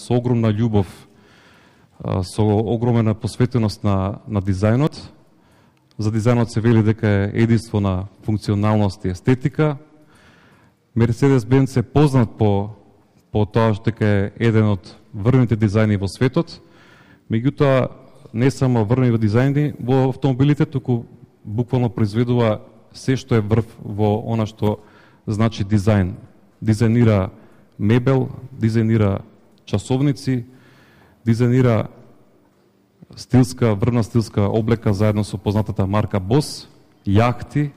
со огромна љубов, со огромна посветеност на дизајнот. За дизајнот се вели дека е единство на функционалност и естетика. Мерцедес-Бенц е познат по тоа што е еден од врвните дизајни во светот. Меѓутоа, не само врвни дизајни во автомобилите, туку буквално произведува се што е врв во она што значи дизајн. Дизајнира мебел, дизајнира часовници, дизајнира врвна стилска облека заедно со познатата марка Бос, јахти,